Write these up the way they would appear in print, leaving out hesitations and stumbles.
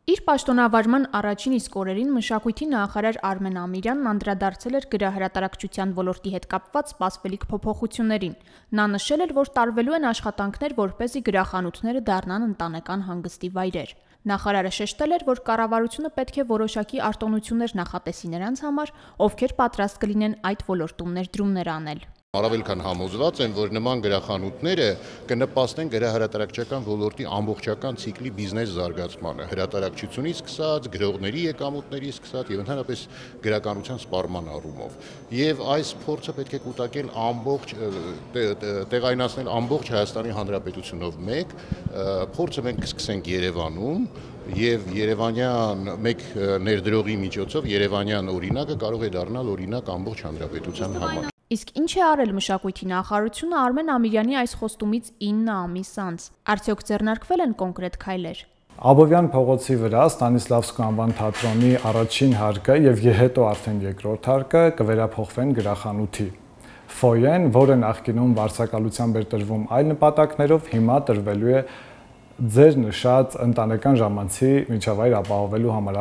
Իր պաշտոնավարման առաջին իսկ օրերին մշակույթի նախարար Արմեն Ամիրյանն անդրադարձել էր գրահրատարակչության ոլորտի հետ կապված սպասվելիք փոփոխություններին։ Նա նշել էր, որ տարվելու են աշխատանքներ, որպեսզի գրախանութները դառնան ընտանեկան հանգստի վայրեր։ Նախարարը շեշտել էր, որ կառավարությունը պետք է որոշակի արտոնություններ նախատեսի նրանց համար, ովքեր պատրաստ կլինեն այդ ոլորտում ներդրումներ անել։ Առավել քան համոզված եմ, որ նման գրախանութները կնպաստեն գրահրատարակչական ոլորտի ամբողջական ցիկլի բիզնես զարգացմանը, հրատարակչությունից սկսած, գրողների եկամուտներից սկսած եւ ընդհանրապես գրականության սպառման առումով։ Եվ այս փորձը պետք է կուտակել տեղայնացնել ամբողջ Հայաստանի Հանրապետությունով մեկ, փորձը մենք կսկսենք Երևանում եւ Երևանյան մեկ ներդրողի միջոցով Երևանյան օրինակը կարող է դառնալ օրինակ ամբողջ հանրապետության համար։ Իսկ ինչ է արել մշակույթի նախարարությունը Արմեն Ամիրյանի այս խոստումից 9 ամիս անց։ Արդյոք ձեռնարկվել են կոնկրետ քայլեր։ Աբովյան փողոցի վրա Ստանիսլավսկու անվան թատրոնի առաջին հարկը եւ հետո արդեն երկրորդ հարկը կվերափոխվեն գրախանութի։ Ֆոյեն, որը նախկինում վարձակալությամբ էր տրվում այլ նպատակներով, հիմա տրվելու է ձեր նշած ընտանեկան ժամանցի միջավայր ապահովելու համար։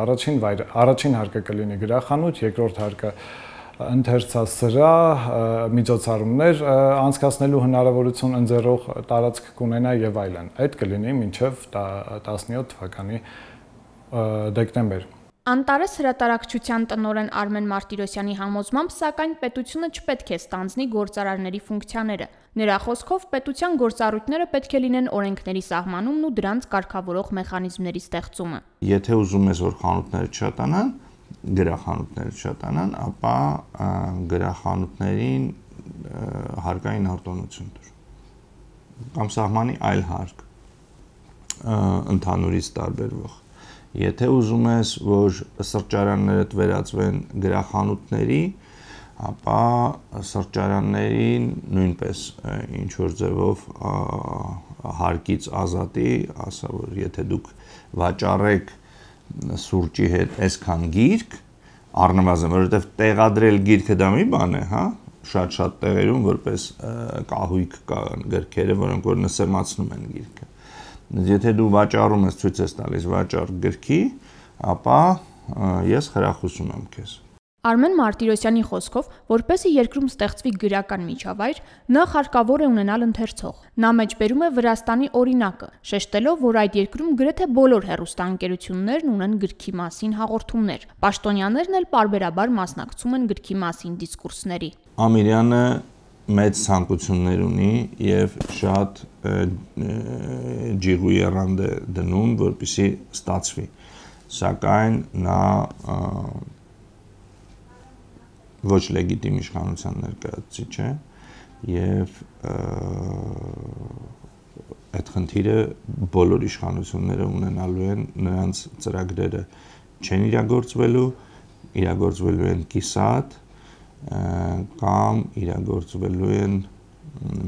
Առաջին հարկը կլինի գրախանութ, երկրորդ հարկը ընթերցասրահ, միջոցառումներ անցկացնելու հնարավորություն ընձեռող տարածք կունենա եւ այլն։ Այդ կլինի մինչեւ 17 թվականի դեկտեմբեր։ Անտարես հրատարակչության տնօրեն Արմեն Մարտիրոսյանի համոզմամբ, սակայն պետությունը չպետք է ստանձնի գործարարների ֆունկցիաները։ Նրա խոսքով պետության գործառույթները պետք է լինեն օրենքների սահմանումն ու դրանց կարգավորող մեխանիզմների ստեղծումը։ Եթե ուզում ես, որ խանութները չշատանան, գրախանութները շատանան, ապա գրախանութներին հարկային արտոնություն տուր կամ սահմանի այլ հարկ ընդհանուրից տարբերվող։ Եթե ուզում ես, որ սրճարանները վերածվեն գրախանութների, ապա սրճարաններին նույնպես ինչ որ ձևով հարկից ազատի, ասա որ եթե դուք վաճառեք սուրճի հետ այսքան գիրք, առնվազն, որովհետև տեղադրել գիրքը դա մի բան է, հա, շատ տեղերում որպես կահույք կան գրքերը, որոնք որ նսեմացնում են գիրքը։ Եթե դու վաճառում ես, ցույց ես տալիս վաճառ գրքի, ապա ես խրախուսում եմ քեզ։ Արմեն Մարտիրոսյանի խոսքով, որպեսզի երկրում ստեղծվի գրական միջավայր, նախ հարկավոր է ունենալ ընթերցող։ Նա մեջբերում է Վրաստանի օրինակը, շեշտելով, որ այդ երկրում գրեթե բոլոր հեռուստաընկերություններն ունեն գրքի մասին հաղորդումներ։ Պաշտոնյաներն էլ պարբերաբար մասնակցում են գրքի մասին դիսկուրսների։ Ամիրյանը մեծ ցանկություններ ունի եւ շատ ջիղու եռանդ է դնում, որպեսզի ստացվի։ Սակայն նա ոչ լեգիտիմ իշխանության ներկայացուցիչ է եւ այդ խնդիրը բոլոր իշխանությունները ունենալու են, նրանց ծրագրերը չեն իրագործվելու են կիսատ կամ իրագործվելու են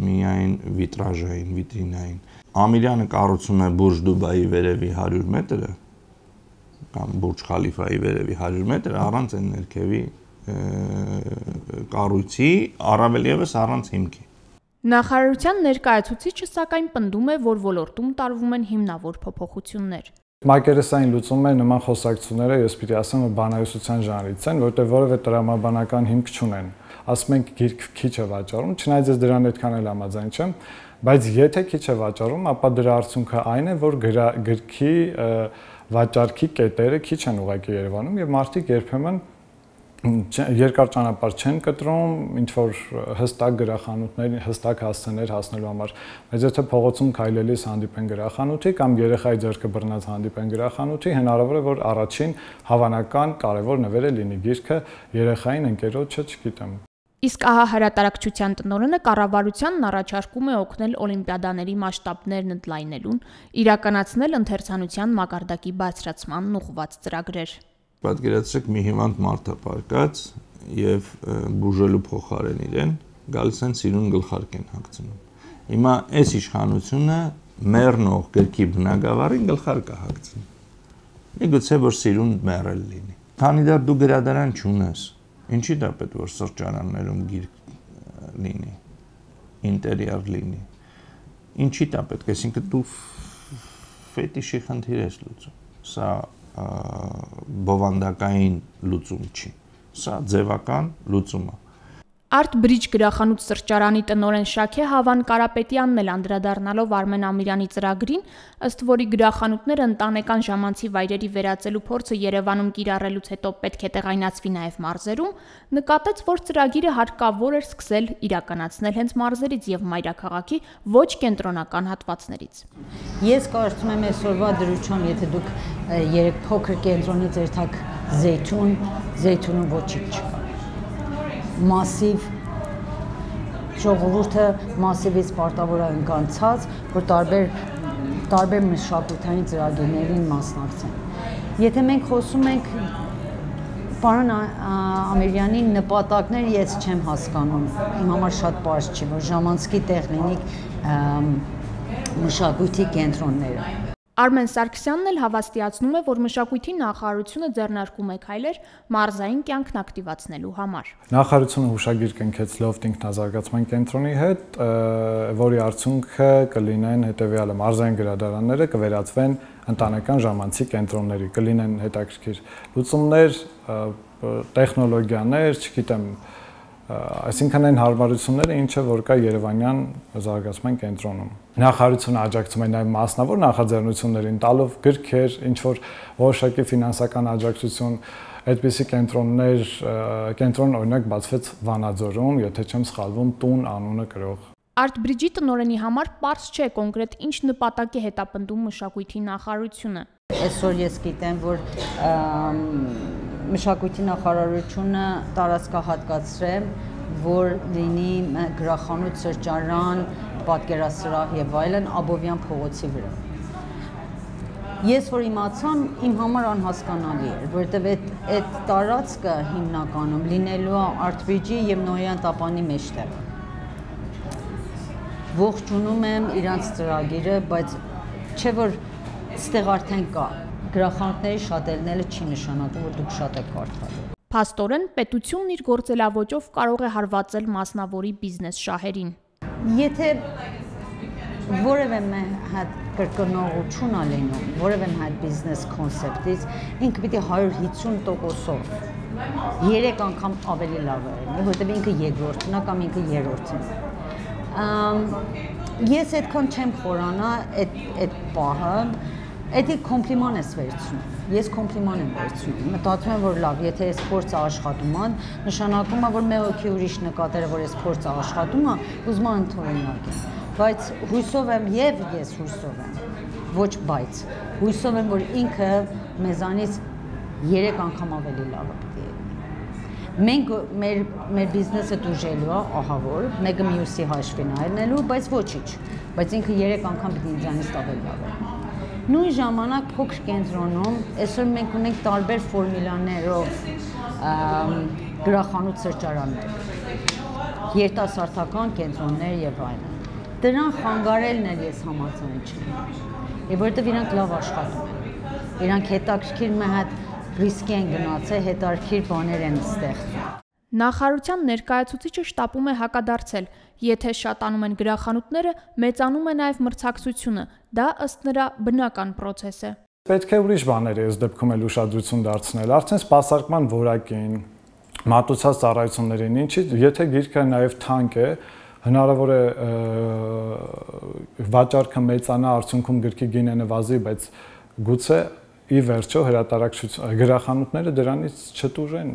միայն վիտրաժային, վիտրինային։ Ամիրյանը կառուցում է Բուրջ Դուբայի վերևի 100 մետրը կամ Բուրջ Խալիֆայի վերևի 100 մետրը առանց այն ներքևի կառույցի, առավել ևս առանց հիմքի։ Նախարարության ներկայացուցիչը սակայն պնդում է, որ ոլորտում տարվում են հիմնավոր փոփոխություններ։ Մակերեսային լուծումները նման խոսակցությունները, ես պիտի ասեմ, բանահյուսության ժանրից են, որտեղ որևէ տրամաբանական հիմք չունեն։ Ասում ենք գիրք քիչ է վաճառում, չնայած ես դրան այդքան էլ համաձայն չեմ, բայց եթե քիչ է վաճառում, ապա դրա արդյունքը այն է, որ գրքի վաճառքի կետերը քիչ են ուղղակի Երևանում եւ մարդիկ երբեմն երկար ճանապարհ չեն կտրում, ինչ որ հստակ գրախանութների, հստակ հասցեներ հասնելու համար։ Բայց եթե փողոցում քայլելիս հանդիպեն գրախանութի կամ երեխայի ձեռքը բռնած հանդիպեն գրախանութի, հնարավոր է որ առաջին հավանական կարևոր նվերը լինի գիրքը, երեխային ընկերոջը, չգիտեմ։ Իսկ ահա հրատարակչության տնօրենը կառավարությանն առաջարկում է օգնել օլիմպիադաների մասշտաբներն ընդլայնելուն, իրականացնել ընթերցանության մակարդակի բարձրացմանն ուղղված ծրագրեր։ Պատկերացրեք մի հիվանդ մարդ է պարկած եւ բուժելու փոխարեն իրեն գալիս են սիրուն գլխարկ են հագցնում։ Հիմա այս իշխանությունը մեռնող գրքի բնակավարին գլխարկ է հագցնում։ Միգուցե որ սիրուն մեռել լինի։ Քանի դեռ դու գրադարան չունես, ինչի՞ դա պետք որ սրճարաններում գիրք լինի, ինտերիեր լինի։ Ինչի՞ դա պետք, այսինքն դու ֆետիշի խնդիր ես լուծում։ Սա բովանդակային լուծում չի։ Սա ձևական լուծում է։ Art Bridge գրախանութ սրճարանի տնօրեն Շաքե Հավան Կարապետյանն էլ անդրադառնալով Արմեն Ամիրյանի ծրագրին, ըստ որի գրախանութները ընտանեկան ժամանցի վայրերի վերածելու փորձը Երևանում կիրառելուց հետո պետք է տեղայնացվի նաև մարզերում, նկատեց, որ ծրագիրը հարկավոր էր սկսել իրականացնել հենց մարզերից եւ մայրաքաղաքի ոչ կենտրոնական հատվածներից։ Ես կարծում եմ այսօրվա դրությամբ, եթե դուք երեք փոքր կենտրոնից երթաք Զեյթունում ոչինչ չկա։ Մասիվ ժողովուրդը մասիվից պարտավոր է ընկանցած, որ տարբեր մշակութային ծրագրերին մասնակցեն։ Եթե մենք խոսում ենք պարոն Ամիրյանի նպատակները, ես չեմ հասկանում, իմ համար շատ պարզ չի, որ ժամանցքի տեղ լինի մշակույթի կենտրոնները։ Արմեն Սարգսյանն էլ հավաստիացնում է, որ մշակույթի նախարարությունը ձեռնարկում է քայլեր մարզային կյանքն ակտիվացնելու համար։ Նախարարությունը հուշագիր կնքեց Լոֆթ ինքնազարգացման կենտրոնի հետ, որի արդյունքը կլինեն հետևյալը՝ մարզային գրադարանները կվերածվեն ընտանեկան ժամանցի կենտրոնների, կլինեն հետաքրքիր լուծումներ, տեխնոլոգիաներ, չգիտեմ, այսինքն այն հարմարությունները, ինչը որ կա Երևանյան զարգացման կենտրոնում։ Նախարարությունը աջակցում է նաև մասնավոր նախաձեռնություններին, տալով գրքեր, ինչ որ որոշակի ֆինանսական աջակցություն, այդպիսի կենտրոն օրինակ բացվեց Վանաձորում, եթե չեմ սխալվում, տուն անունը կրող։ Art Bridge-ի տնօրենի համար պարզ չէ կոնկրետ ինչ նպատակ է հետապնդում մշակույթի նախարարությունը։ Այսօր ես գիտեմ, որ մշակույթի նախարարությունը տարածքահատկացրել, որ լինի գրախանութ, սրճարան, պատկերասրահ եւ այլն Աբովյան փողոցի վրա։ Ես որ իմացամ, իմ համար անհասկանալի էր, որովհետեւ այդ տարածքը հիմնականում լինելու է Art Bridge-ի եւ Նոյան տապանի մեջտեղ։ Ողջունում եմ իրանց ծրագիրը, բայց չէ որ ստեղ արդեն կա։ Գրախանութների շատ ելնելը չի նշանակում, որ դուք շատ եք կարդալ։ Փաստորեն, պետությունն իր գործելավոճով կարող է հարվածել մասնավորի բիզնես շահերին։ Եթե որևէ հատ կրկնողություն ալենում, որևէ հատ բիզնես կոնցեպտից, ինքը պիտի 150%-ով 3 անգամ ավելի լավ է, որովհետև ինքը երկրորդն է կամ ինքը երրորդն է։ Ես այդքան չեմ խորանա այդ պահը, Էդի կոմպլիման ես վերցնում, ես կոմպլիման եմ վերցնում, մտածում եմ, որ լավ, եթե ես փորձը աշխատում եմ, նշանակում է, որ մեկ հոգի ուրիշ նկատել է, որ ես փորձը աշխատում եմ, ուզում եմ ընդօրինակ եմ, բայց հույսով եմ եւ ես հույսով եմ, ոչ բայց, հույսով եմ, որ ինքը մեզանից 3 անգամ ավելի լավ է պիտի լինի։ Մենք մեր բիզնեսը դուժելու է, ահա որ, մեկը մյուսի հաշվին այլնելու, բայց ոչինչ, բայց ինքը 3 անգամ պիտի ինձանից ավելի լավ է։ Նույն ժամանակ փոքր կենտրոնում այսօր մենք ունենք տարբեր ֆորմուլաներով գրախանութ սրճարաններ, երիտասարդական կենտրոններ եւ այլն։ Դրան խանգարելն էլ ես համաձայն չեմ, որովհետեւ իրանք լավ աշխատում են։ Իրանք հետաքրքիր մի հատ ռիսկի են գնացել, հետաքրքիր բաներ են ստեղծում։ Նախարարության ներկայացուցիչը շտապում է հակադարձել, եթե շատանում են գրախանութները, մեծանում է նաև մրցակցությունը, դա ըստ նրա բնական պրոցես է։ Պետք է ուրիշ բաներ այս դեպքում էլ ուշադրություն դարձնել, արդեն սպասարկման որակին, մատուցած ծառայություններին, ինչի, եթե գիրքը նաև թանկ է, հնարավոր է վաճառքը մեծանա, արդյունքում գրքի գինը նվազի, բայց գուցե ի վերջո գրախանութները դրանից չտուժեն։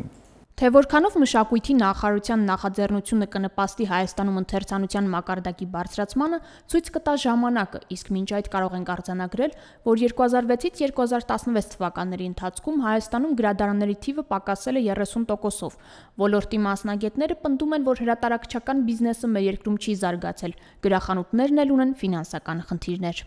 Թե որքանով մշակույթի նախարարության նախաձեռնությունը կնպաստի Հայաստանում ընթերցանության մակարդակի բարձրացմանը, ցույց կտա ժամանակը, իսկ մինչ այդ կարող ենք արձանագրել, որ 2006-ից 2016 թվականների ընթացքում Հայաստանում գրադարանների թիվը պակասել է 30%-ով։ Ոլորտի մասնագետները պնդում են, որ հրատարակչական բիզնեսը մեր երկրում չի զարգացել, գրախանութներն էլ ունեն ֆինանսական խնդիրներ։